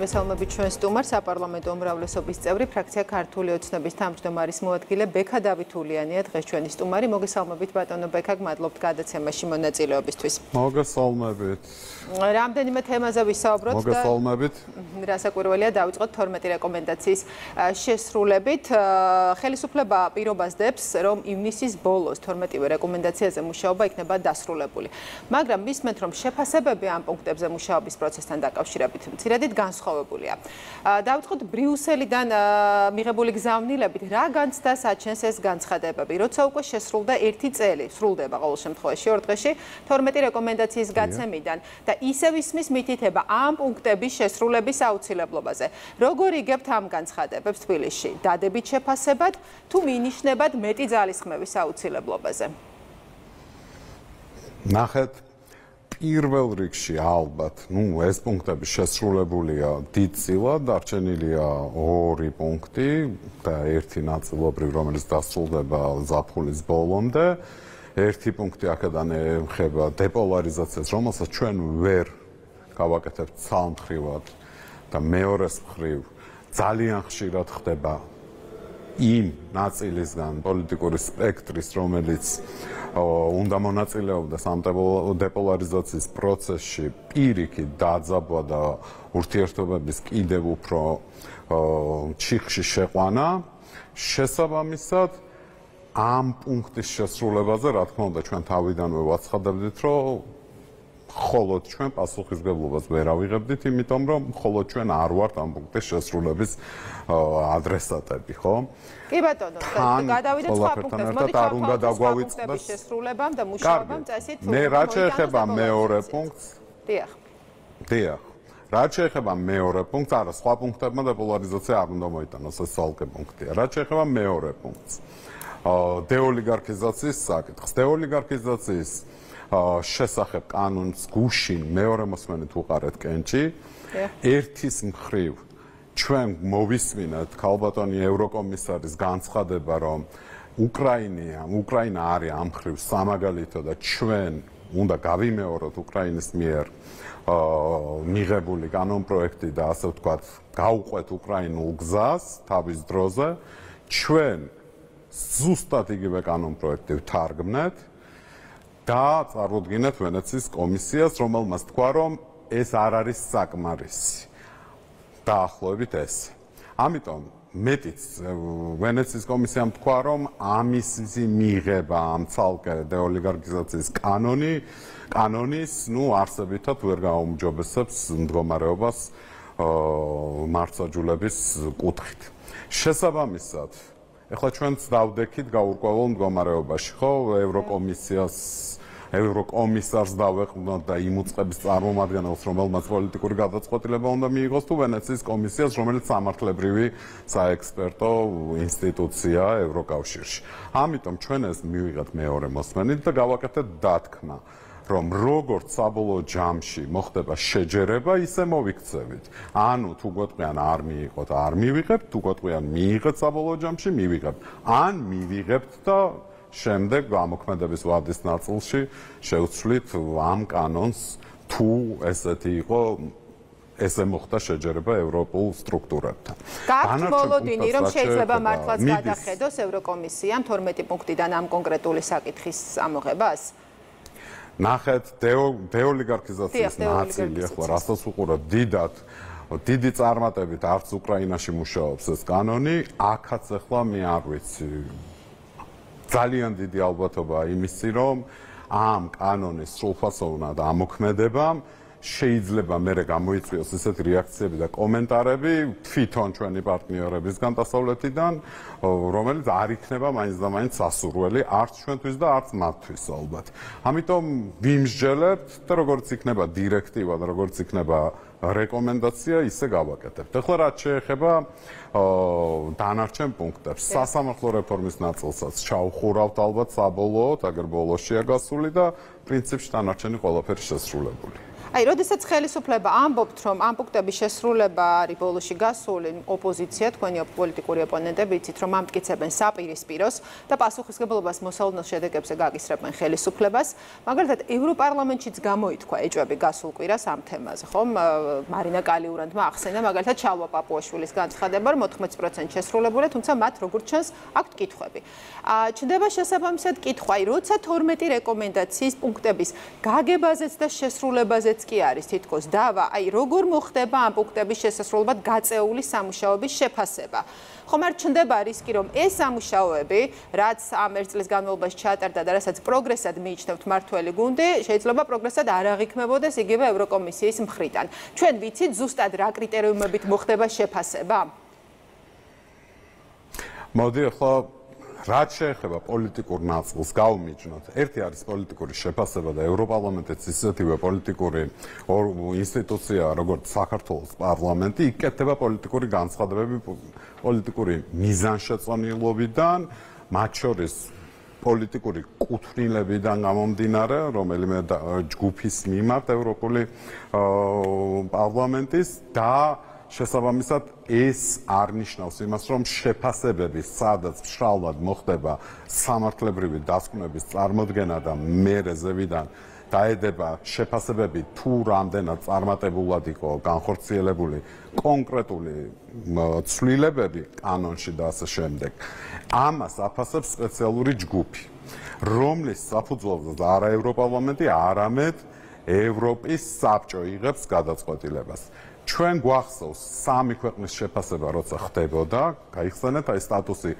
მოგესალმებით ჩვენ სტუმარს, საპარლამენტო უმრავლესობის წევრი, ფრაქცია ქართული ოცნების თავმჯდომარის მოადგილე ბექა დავითულიანია დღეს ჩვენი სტუმარი. მოგესალმებით ბატონო ბექა, გმადლობთ გადაცემაში მონაწილეობისთვის. მოგესალმებით. რამდენიმე თემაზე ვისაუბროთ და მოგესალმებით. რასაკვირველია დავიწყოთ 12 რეკომენდაციის შესრულებით. ხელისუფლება პირობას დებს, რომ ივნისის ბოლოს 12 რეკომენდაციაზე მუშაობა იქნება დასრულებული. მაგრამ მისმენთ, რომ შეფასებები ამ პუნქტებზე მუშაობის პროცესთან დაკავშირებით მცირედით განსხვავებულია. დავიწყოთ ბრიუსელიდან მიღებული გზავნილებით, რა განცდა საჩენს ეს განცხადებები, როცა უკვე შესრულდა 1 წელი, სრულდება ყოველ შემთხვევაში 2 დღეში 12 რეკომენდაციის გაცემიდან და ისევ ისმის მითითება ამ პუნქტების შესრულების აუცილებლობაზე. როგორ იგებთ ამ განცხადებებს თბილისში? დადებით შეფასებად თუ მინიშნებად მეტი ძალისხმევის აუცილებლობაზე? ნახეთ, პირველ რიგში ალბათ, ეს პუნქტები შესრულებულია დიდწილად, დარჩენილია 2 პუნქტი და 1 ნაწილობრივ, რომელიც დასრულდება ზაფხულის ბოლომდე. 1 პუნქტი აქედან ეხება დეპოლარიზაციას, რომელსაც ჩვენ ვერ გავაკეთებთ ცალმხრივად და მეორეს მხრივ ძალიან ხშირად ხდება იმ ნაწილისგან პოლიტიკური სპექტრის, რომელიც უნდა მონაწილეობდეს ამ დეპოლარიზაციის პროცესში პირიქით დაძაბვა და ურთიერთობების კიდევ უფრო ჩიხში შეყვანა. შესაბამისად, ამ პუნქტის შესრულებაზე, რა თქმა უნდა, ჩვენ თავიდანვე ვაცხადებდით, რომ მხოლოდ ჩვენ პასუხისმგებლობას ვერ ავიღებდით, იმიტომ რომ მხოლოდ ჩვენ არ ვართ ამ პუნქტის შესრულების ადრესატები, ხო? კი ბატონო, გადავიდეთ სხვა პუნქტებზე. მოდით დავაკვირდეთ შესრულებამ და მუშაობამ წესით. მე რაც შეეხება მეორე პუნქტს, დიახ. რაც შეეხება მეორე პუნქტს, არა, სხვა პუნქტებმა დეპოლარიზაცია არ უნდა მოიტანოს, ეს ცალკე პუნქტია. რაც შეეხება მეორე პუნქტს, დეოლიგარქიზაციის საკითხს, დეოლიგარქიზაციის შესახებ კანონს გუშინ მეორე მოსმენით უყარეთ კენჭი. ერთის მხრივ ჩვენ მოვისმინეთ ქალბატონი ევროკომისარის განცხადება, რომ უკრაინა არის ამ მხრივ სამაგალითო და ჩვენ უნდა გავიმეოროთ უკრაინის მიერ მიღებული კანონპროექტი და ასე ვთქვათ, გავუყვეთ უკრაინულ გზას თავის დროზე. ჩვენ ზუსტად იგივე კანონპროექტი ვთარგმნეთ და წარუდგინეთ ვენეციის კომისიას, რომელმაც თქვა, რომ ეს არ არის საკმარისი. დაახლოებით ეს. ამიტომ მეტიც ვენეციის კომისიამ თქვა, რომ ამის მიღება ამ ცალკე დეოლიგარქიზაციის კანონის, არსებითად ვერ გაუმჯობესებს მდგომარეობას მართლმსაჯულების კუთხით. შესაბამისად, ეხლა ჩვენც დავდექით გაურკვეველ მდგომარეობაში, ხო, ევროკომისარს დავეყვნოთ და იმ უწყების წარმომადგენელს, რომელმაც პოლიტიკური გადაწყვეტილება უნდა მიიღოს, თუ ვენეციის კომისიას, რომელიც სამართლებრივი საექსპერტო ინსტიტუცია ევროკავშირში. ამიტომ ჩვენ ეს მივიღეთ მეორე მოსმენით და გავაკეთეთ დათქმა, რომ როგორც საბოლოო ჯამში მოხდება შეჯერება, ისე მოვიქცევით. ანუ თუ გვეტყვიან არ მიიღოთ, არ მივიღებთ, თუ გვეტყვიან მიიღეთ საბოლოო ჯამში, მივიღებთ. ან მივიღებთ და შემდეგ გამოქმედების ვადის ნაწილში შევცვლით ამ კანონს, თუ ესეთი იყო, ესე მოხდა შეჯერება ევროპულ სტრუქტურებთან. გაქვთ მოლოდინი, რომ შეიძლება მართლაც გადახედოს ევროკომისიამ 12 პუნქტიდან ამ კონკრეტული საკითხის ამოღებას? ნახეთ, დეოლიგარქიზაციის ნაწილი, ახლა რასაც უყურებთ, დიდი წარმატებით არც უკრაინაში მუშაობს ეს კანონი, აქაც ახლა მე არ ვიცი. ძალიან დიდი ალბათობაა იმისი, რომ ამ კანონის სრულფასოვნად ამოქმედებამ შეიძლება მერე გამოიწვიოს ისეთი რეაქციები და კომენტარები თვითონ ჩვენი პარტნიორებისგან დასავლეთიდან, რომელიც არ იქნება მაინც და მაინც სასურველი არც ჩვენთვის და არც მათთვის ალბათ. ამიტომ ვიმსჯელებთ და როგორც იქნება დირექტივა და როგორც იქნება რეკომენდაცია, ისე გავაკეთებთ. ახლა რაც შეეხება დანარჩენ პუნქტებს, სასამართლო რეფორმის ნაწილსაც ჩავხურავთ ალბათ საბოლოოდ, აგერ ბოლოშია გასული და პრინციპში დანარჩენი ყველაფერი შესრულებული. აი, როდესაც ხელისუფლება ამბობთ, რომ ამ პუნქტების შესრულება არის ბოლოში გასული, ოპოზიცია, თქვენი პოლიტიკური ოპონენტები იცით, რომ ამტკიცებენ საპირისპიროს და პასუხისმგებლობას მოსალოდნელ შედეგებზე გაგისრებენ ხელისუფლებას. მაგალითად, ევროპარლამენტშიც გამოითქვა ეჭვები გასულ კვირას ამ თემაზე, ხომ? მარინა კალიურანტმა ახსენა, მაგალითად, ჩალვა პაპუაშვილის განცხადება, რომ 14% შესრულებულია, თუმცა მათ როგორც ჩანს, აქვთ კითხვები. ჩნდება შესაბამისად კითხვა, აი, როცა 12 რეკომენდაციის პუნქტების გაგებაზეც და შესრულებაზეც კი არის თითქოს დავა, აი როგორ მოხდება ამ პუნქტების შესასრულებლად გაწეული სამუშაოების შეფასება. ხომ არ ჩნდება რისკი, რომ ეს სამუშაოები, რაც ამ ერთ წლის განმავლობაში ჩაატარდა და რასაც პროგრესად მიიჩნევთ მართველი გუნდი, შეიძლება პროგრესად არ აღიქმებოდეს იგივე ევროკომისიის მხრიდან. ჩვენ ვიცით ზუსტად რა კრიტერიუმებით მოხდება შეფასება? მოდი ახლა რაც შეეხება პოლიტიკურ ნაწილს გავუმიჯნოთ. ერთი არის პოლიტიკური შეფასება და ევროპარლამენტიც ისეთივე პოლიტიკური ინსტიტუცია, როგორც საქართველოს პარლამენტი, იკეთება პოლიტიკური განცხადებები პოლიტიკური მიზანშეწონილობიდან, მათ შორის პოლიტიკური კუთვნილებიდან გამომდინარე, რომელიმე ჯგუფის მიმართ ევროპული პარლამენტის და შესაბამისად ეს არ ნიშნავს იმას, რომ შეფასებები, სადაც მშრალად მოხდება სამართლებრივი დასკვნების წარმოდგენა და მერე ზევიდან დაედება შეფასებები თუ რამდენად წარმატებულად იყო განხორციელებული კონკრეტული ცვლილებები კანონში და ასე შემდეგ. ამას აფასებს სპეციალური ჯგუფი, რომლის საფუძველზე არა ევროპარლამენტი, არამედ ევროპის საბჭო იღებს გადაწყვეტილებას. ჩვენ გვახსოვს სამი ქვეყნის შეფასება, როცა ხდებოდა, გაიხსენეთ აი სტატუსი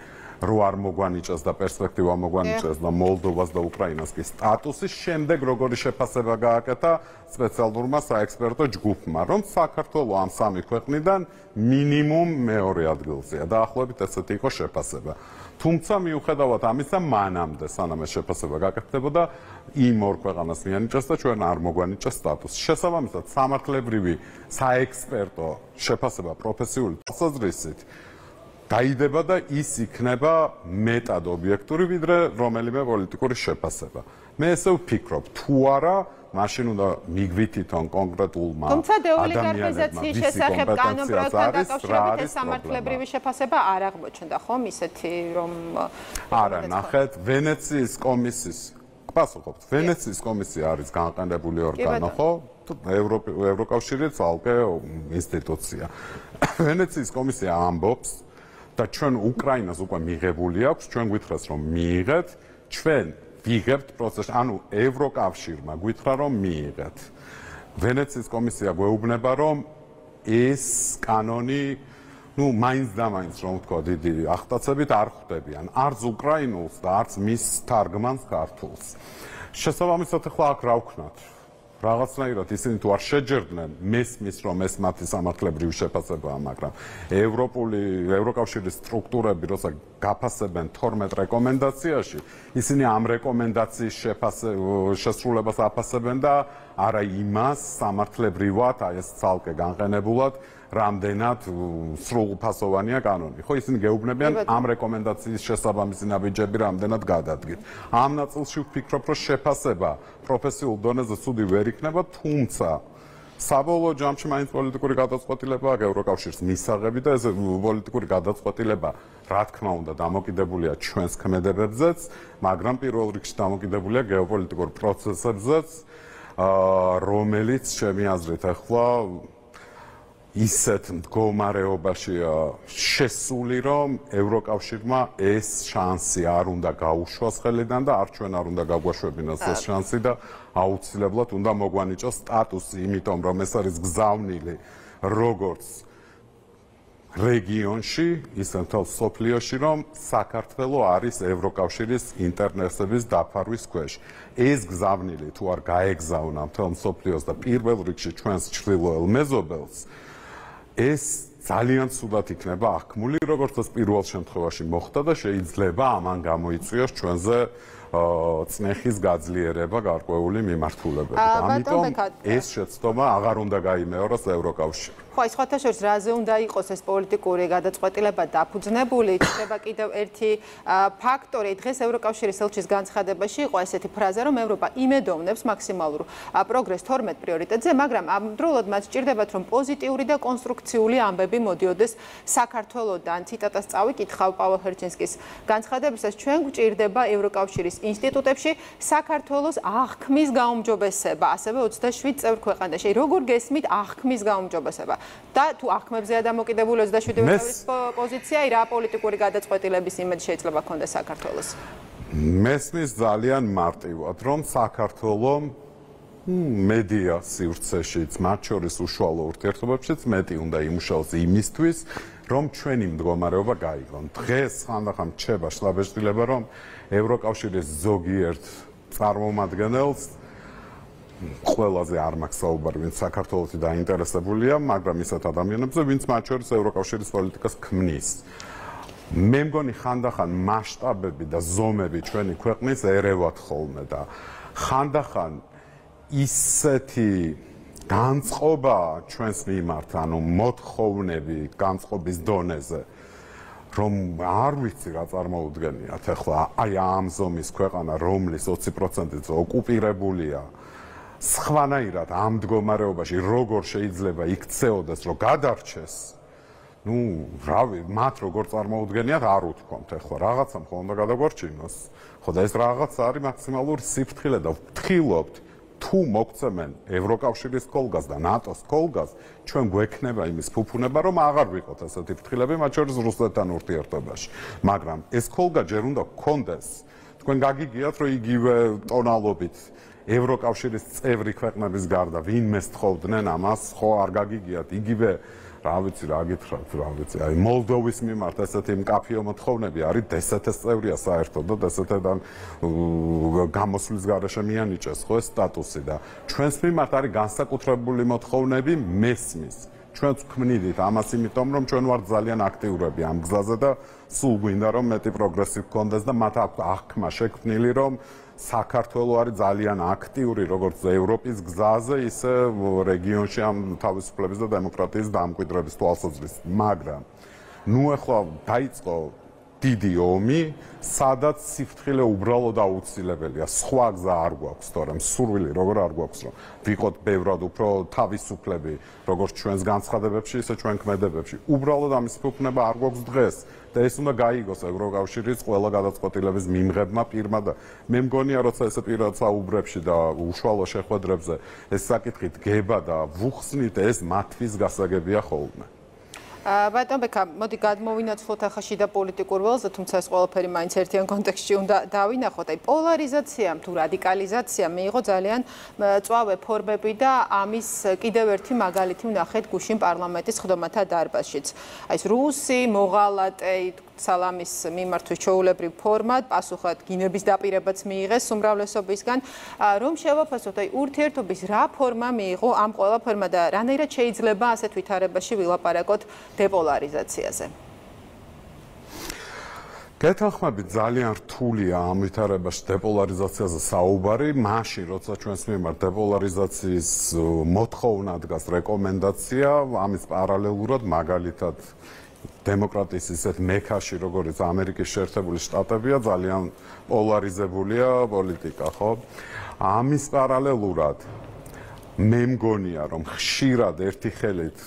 რო არ მოგვანიჭეს და პერსპექტივა მოგვანიჭეს და მოლდოვას და უკრაინას კი სტატუსის შემდეგ როგორი შეფასება გააკეთა სპეციალურმა საექსპერტო ჯგუფმა, რომ საქართველოს ამ სამი ქვეყნიდან მინიმუმ მეორე ადგილზეა. დაახლოებით ესეთი იყო შეფასება. თუმცა მიუხედავად ამისა, მანამდე სანამ ეს შეფასება გაკეთდებოდა, იმ ორ ქვეყანას მიანიჭეს და ჩვენ არ მოგვანიჭეს სტატუსი. შესაბამისად, სამართლებრივი საექსპერტო შეფასება პროფესიული თვალსაზრისით დაიდება და ის იქნება მეტად ობიექტური, ვიდრე რომელიმე პოლიტიკური შეფასება. მე ესე ვფიქრობ, თუ არა, მაშინ უნდა მიგვითითონ კონკრეტულმა ადამიანებმა, ვისი კომპეტენციაც არის, რა არის სამართლებრივი შეფასება არ აღმოჩნდა, ხომ ისეთი, რომ არა, ნახეთ, ვენეციის კომისიის პასუხობთ, ვენეციის კომისია არის განყენებული ორგანო, ხო? ევროკავშირი ცალკე ინსტიტუცია. ვენეციის კომისია ამბობს და ჩვენ უკრაინას უკვე მიღებული აქვს, ჩვენ გვითხრას რომ მიიღეთ, ჩვენ ვიღებთ პროცესში, ანუ ევროკავშირმა გვითხრა რომ მიიღეთ. ვენეციის კომისია გვეუბნება რომ ეს კანონი, მაინც და მაინც რომ ვთქვა, დიდი ახტაცებით არ ხვდებიან, არც უკრაინულს და არც მის თარგმანს ქართულს. შესაბამისად ახლა აქ რა ვქნათ? რაღაცნაირად ისინი თუ არ შეჯერდნენ, მესმის რომ ეს მათი სამართლებრივი შეფასებაა, მაგრამ ევროკავშირის სტრუქტურები როცა გაფასებენ 12 რეკომენდაციაში, ისინი ამ რეკომენდაციის შესრულებას აფასებენ და არა იმას სამართლებრივად, აი ეს ცალკე განყენებულად, რამდენად სრულფასოვანია კანონი. ხო, ისინი გეუბნებიან ამ რეკომენდაციის შესაბამისი ნაბიჯები რამდენად გადადგით. ამ ნაწილში ვფიქრობ, რომ შეფასება პროფესიულ დონეზე ცუდი ვერ იქნება, თუმცა საბოლოო ჯამში მაინც პოლიტიკური გადაწყვეტილება აქვს ევროკავშირის მისაღები და ეს პოლიტიკური გადაწყვეტილება, რა თქმა უნდა, დამოკიდებულია ჩვენს ქმედებებზეც, მაგრამ პირველ რიგში დამოკიდებულია გეოპოლიტიკურ პროცესებზეც, რომელიც ჩემი აზრით ახლა ისეთ მდგომარეობაშია შესული, რომ ევროკავშირმა ეს შანსი არ უნდა გაუშვას ხელიდან და არ ჩვენ არ უნდა გაგვაშვებინოს ეს შანსი და აუცილებლად უნდა მოგვანიჭოს სტატუსი, იმიტომ რომ ეს არის გზავნილი როგორც რეგიონში, ისე მთელ სოფლიოში, რომ საქართველოს არის ევროკავშირის ინტერესების დაფარვის ქვეშ. ეს გზავნილი თუ არ გაეგზავნა მთელ სოფლიოს და პირველ რიგში ჩვენს ჩრდილოელ მეზობელს, ეს ძალიან ცუდად იქნება აღქმული, როგორც ეს პირველ შემთხვევაში მოხდა და შეიძლება ამან გამოიწვიოს ჩვენზე წნეხის გაძლიერება გარკვეული მიმართულებებით. ამიტომ ეს შეცდომა აღარ უნდა გაიმეოროს ევროკავშირს. ხო, ის სხვათა შორის რაზე უნდა იყოს ეს პოლიტიკური გადაწყვეტილება დაფუძნებული, ჩნდება კიდევ ერთი ფაქტორი. დღეს ევროკავშირის ელჩის განცხადებაში იყო ესეთი ფრაზა, რომ ევროპა იმედოვნებს მაქსიმალურ პროგრესს 12 პრიორიტეტზე, მაგრამ ამდროულად მათ სჭირდებათ, რომ პოზიტიური და კონსტრუქციული ამბები მოდიოდეს საქართველოდან. ციტატას წავიკითხავ პაველ ჰერჩინსკის განცხადებისას, ჩვენ გვჭირდება ევროკავშირის ინსტიტუტებში საქართველოს აღქმის გაუმჯობესება, ასევე 27 წევრ ქვეყანაში. როგორ გესმით აღქმის გაუმჯობესება? და თუ აღქმებზეა დამოკიდებული 27 წევრის პოზიცია, რა პოლიტიკური გადაწყვეტილების იმედი შეიძლება ქონდეს საქართველოს? მესმის ძალიან მარტივად, რომ საქართველოს მედია სივრცეშიც, მათ შორის უშუალო ურთიერთობებშიც მეტი უნდა იმუშაოს იმისთვის, რომ ჩვენი მდგომარეობა გაიგონ. დღეს ხანდახან რჩება შთაბეჭდილება, რომ ევროკავშირის ზოგიერთ წარმომადგენელს ყველაზე არ მაქვს საუბარი, ვინც საქართველოში დაინტერესებულია, მაგრამ ისეთ ადამიანებზე, ვინც მათ შორის ევროკავშირის პოლიტიკას ქმნის. მე მგონი ხანდახან მასშტაბები და ზომები ჩვენი ქვეყნის ერევათ ხოლმე და ხანდახან ისეთი განწყობა ჩვენს მიმართ, ანუ მოთხოვნები განწყობის დონეზე, რომ არ ვიცი რა წარმოუდგენიათ ახლა აი ამ ზომის ქვეყანა, რომლის 20%-იც ოკუპირებულია, სხვანაირად ამ მდგომარეობაში როგორ შეიძლება იქცეოდეს, რომ გადარჩეს, ну, რავი, მათ როგორ წარმოუდგენიათ, არ უთქვამთ ახლა, რაღაცამ ხო უნდა გადაგვარჩინოს. ხო და ეს რაღაც არის მაქსიმალური სიფრთხილე და ვფრთხილობთ, თუ მოგცემენ ევროკავშირის კოლგას და ნატოს კოლგას, ჩვენ გვექნება იმის ფუფუნება, რომ აღარ ვიყოთ ასეთი ფრთხილები, მათ შორის რუსეთთან ურთიერთობაში. მაგრამ ეს კოლგა ჯერ უნდა გქონდეს. თქვენ გაგიგიათ, რომ იგივე ტონალობით ევროკავშირის წევრი ქვეყნების გარდა ვინმე სთხოვდნენ ამას, ხო არ გაგიგიათ იგივე რა ვიცი რა გითხრათ, რა ვიცი, აი მოლდოვის მიმართ ესეთი მკაფიო მოთხოვნები არის, DST-ს წევრია საერთოდ და DST-დან გამოსვლის გარეშე მიანიჭეს ხო ეს სტატუსი და ჩვენს მიმართ არის განსაკუთრებული მოთხოვნები მესმის. ჩვენც ვქმნიდით ამას იმიტომ, რომ ჩვენ ვართ ძალიან აქტიურები ამ გზაზე და სულ გვინდა რომ მეტი პროგრესი გქონდეს და მათ აქვს აღქმა შექმნილი, რომ საქართველო არის ძალიან აქტიური როგორც ევროპის გზაზე, ისე რეგიონში ამ თავისუფლების და დემოკრატიის დამკვიდრების თვალსაზრისით. მაგრამ ნუ ახლა დაიწყო დიდი ომი, სადაც სიფრთხილე უბრალოდ აუცილებელია. სხვა გზა არ გვაქვს, თორემ სურვილი როგორ არ გვაქვს, რომ ვიყოთ ბევრად უფრო თავისუფლები, როგორც ჩვენს განცხადებებში, ისე ჩვენ ქმედებებში. უბრალოდ ამის ფუფუნება არ გვაქვს დღეს. და ეს უნდა გაიგოს ევროკავშირის ყველა გადაწყვეტილების მიმღებმა პირმა და მე მგონია, როცა ესე პირად საუბრებში და უშუალო შეხვედრებზე ეს საკითხი დგება და ვუხსნით, ეს მათთვის გასაგებია ხოლმე. ბატონ ბექა, მოდი გადმოვინაცვლოთ ახლა შიდა პოლიტიკურ ველზე, თუმცა ეს ყველაფერი მაინც ერთიან კონტექსტში უნდა დავინახოთ. აი პოლარიზაციამ თუ რადიკალიზაციამ მიიღო ძალიან მწვავე ფორმები და ამის კიდევ ერთი მაგალითი ვნახეთ გუშინ პარლამენტის ხდომათა დარბაზშიც. აი ეს რუსი მოღალატე სალამის მიმართვის ჩვეულებრივ ფორმად, პასუხად გინების დაპირებაც მიიღეს უმრავლესობისგან, რომ შევაფასოთ, აი ურთიერთობის რა ფორმა მიიღო ამ ყველაფერმა და რანაირად შეიძლება ასეთ ვითარებაში ვილაპარაკოთ დეპოლარიზაციაზე. გეთანხმებით, ძალიან რთულია ამ ვითარებაში დეპოლარიზაციაზე საუბარი, მაშინ როცა ჩვენს მიმართ დეპოლარიზაციის მოთხოვნა დგას რეკომენდაცია, ამის პარალელურად მაგალითად დემოკრატიის ისეთ მექაში, როგორც ამერიკის შეერთებული შტატებია, ძალიან პოლარიზებულია პოლიტიკა, ხო? ამის პარალელურად მე მგონია, რომ ხშირად ერთი ხელით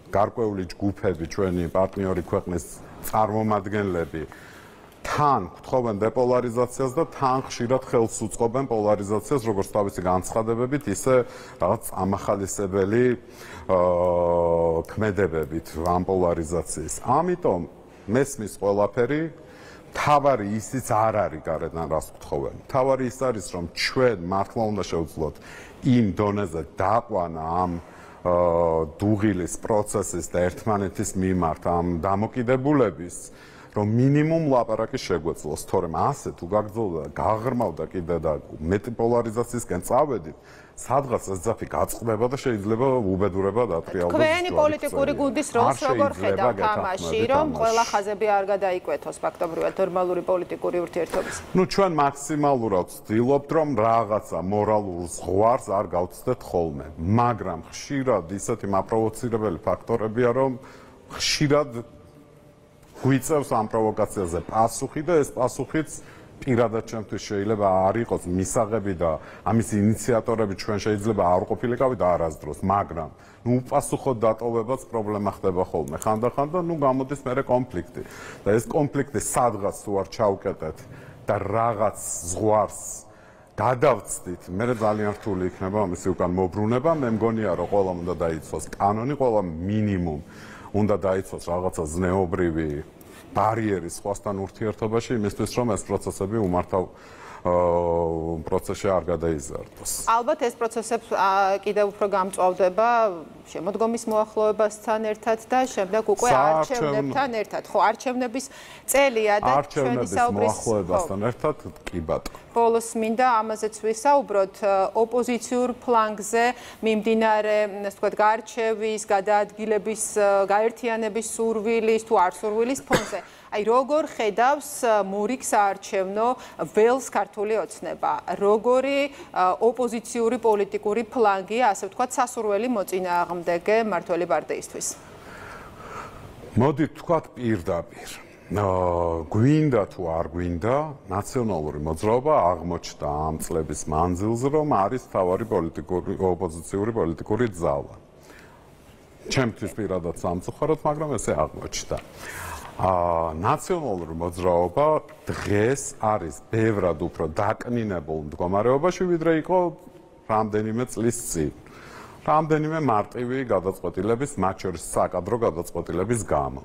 გარკვეული ჯგუფები, ჩვენი პარტნიორი ქვეყნის წარმომადგენლები თან გთხოვენ დეპოლარიზაციას და თან ხშირად ხელს უწყობენ პოლარიზაციას, როგორც თავისი განცხადებებით, ისე რაღაც ამახალისებელი ქმედებებით ამ პოლარიზაციის. ამიტომ მესმის ყველაფერი, თავარი ისიც არ არის გარედან რას გთხოვენ. თავარი ის არის, რომ ჩვენ მართლა უნდა შევძლოთ იმ დონეზე დაყვანა ამ დუღილის პროცესის და ერთმანეთის მიმართ ამ დამოკიდებულების, რომ მინიმუმ ლაპარაკი შეგვეძლოს, თორემ ასე თუ გაგრძელდა, გაღრმავდა კიდე და მეტი პოლარიზაციისკენ წავედით, სადღაც ეს ძაფი გაწყდება და შეიძლება უბედურება დატრიალდეს. თქვენი პოლიტიკური გუნდის როლს როგორ ხედავთ ამაში, რომ ყველა ხაზები არ გადაიკვეთოს ფაქტობრივად ნორმალური პოლიტიკური ურთიერთობის? ნუ ჩვენ მაქსიმალურად ვცდილობთ, რომ რაღაცა მორალურ ზღვარს არ გავცდეთ ხოლმე, მაგრამ ხშირად ისეთი მაპროვოცირებელი ფაქტორებია, რომ ხშირად გვიწევს ამ პროვოკაციაზე პასუხი და ეს პასუხიც პირადად ჩემთვის შეიძლება არ იყოს მისაღები და ამის ინიციატორები ჩვენ შეიძლება არ ყოფილიყავით არასდროს, მაგრამ ნუ უპასუხოდ დატოვებაც პრობლემა ხდება ხოლმე ხანდახან და ნუ გამოდის მერე კონფლიქტი და ეს კონფლიქტი სადღაც თუ არ ჩავკეტეთ და რაღაც ზღვარს გადავწდით, მე ძალიან რთული იქნება ამისი უკან მობრუნება, მე მგონია რომ ყველამ უნდა დაიცვას კანონი, ყველამ მინიმუმ უნდა დაიცვას რაღაცა ზნეობრივი ბარიერი სხვასთან ურთიერთობაში იმისთვის რომ ეს პროცესები უმართავ პროცესში არ გადაიზარდოს. ალბათ ეს პროცესები კიდევ უფრო გამწვავდება შემოდგომის მოახლოებასთან ერთად და შემდეგ უკვე არჩევნებთან ერთად. ხო, არჩევნების წელია და ჩვენი საუბრის მოახლოებასთან ერთად კი ბატონო. ბოლოს მინდა ამაზეც ვისაუბროთ ოპოზიციურ ფლანგზე მიმდინარე, ასე ვთქვათ, გარჩევის, გადაადგილების, გაერთიანების სურვილის თუ არ სურვილის ფონზე. აი როგორ ხედავს მურიგ საარჩევნო ველს ქართული ოცნება? როგორი ოპოზიციური პოლიტიკური ფლანგია, ასე ვთქვათ, სასურველი მოწინააღმდეგე მმართველი პარტიისთვის? მოდით ვთქვათ პირდაპირ. გვინდა თუ არ გვინდა, ნაციონალური მოძრაობა აღმოჩნდა ამ წლების მანძილზე, რომ არის მთავარი ოპოზიციური პოლიტიკური ძალა. ჩემთვის პირადად სამწუხაროდ, მაგრამ ესე აღმოჩნდა. ნაციონალური მოძრაობა დღეს არის ბევრად უფრო დაკნინებულ მდგომარეობაში, ვიდრე იყო რამდენიმე წლის წინ. რამდენიმე მარტივი გადაწყვეტილების, მათ შორის საკადრო გადაწყვეტილების გამო.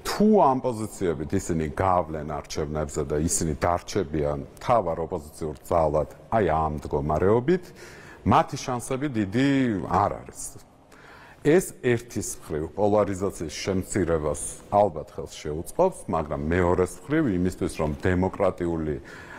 თუ ამ პოზიციებით ისინი გავლენ არჩევნებზე და ისინი დარჩებიან მთავარ ოპოზიციურ ძალად, აი ამ მდგომარეობით, მათი შანსები დიდი არ არის. ეს ერთის მხრივ პოლარიზაციის შემცირებას ალბათ ხელს შეუწყობს, მაგრამ მეორეს მხრივ იმისთვის, რომ დემოკრატიული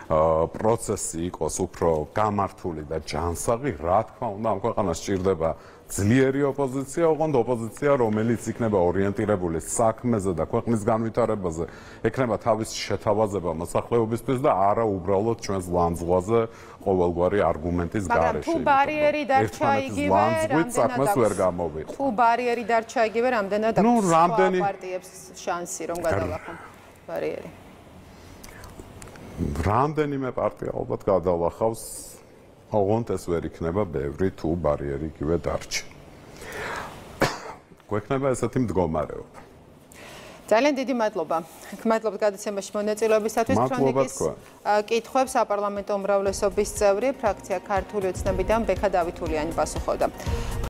პროცესი იყოს უფრო გამართული და ჯანსაღი, რა თქმა უნდა, ამ ქვეყანას სჭირდება ძლიერი ოპოზიცია, ოღონდ ოპოზიცია, რომელიც იქნება ორიენტირებული საქმეზე და ქვეყნის განვითარებაზე, ექნება თავის შეთავაზება მოსახლეობისთვის და არა უბრალოდ ჩვენს ლანძღვაზე ყოველგვარი არგუმენტის გარეშე. მაგრამ თუ ბარიერი დარჩა იგივე, საქმეს ვერ გამოვიყო. თუ ბარიერი დარჩა იგივე, რამდენად აქვს სხვა პარტიებს შანსი რომ გადალახონ ბარიერი? რამდენიმე პარტია ალბათ გადალახავს, ოღონდ ეს ვერ იქნება ბევრი თუ ბარიერი იგივე დარჩა. გვექნება ესეთი მდგომარეობა. ძალიან დიდი მადლობა. გმადლობთ გადაცემაში მონაწილეობისათვის. ქრონიკის კითხვებს საპარლამენტო უმრავლესობის წევრი, ფრაქცია ქართული ოცნებიდან ბექა დავითულიანი პასუხობდა.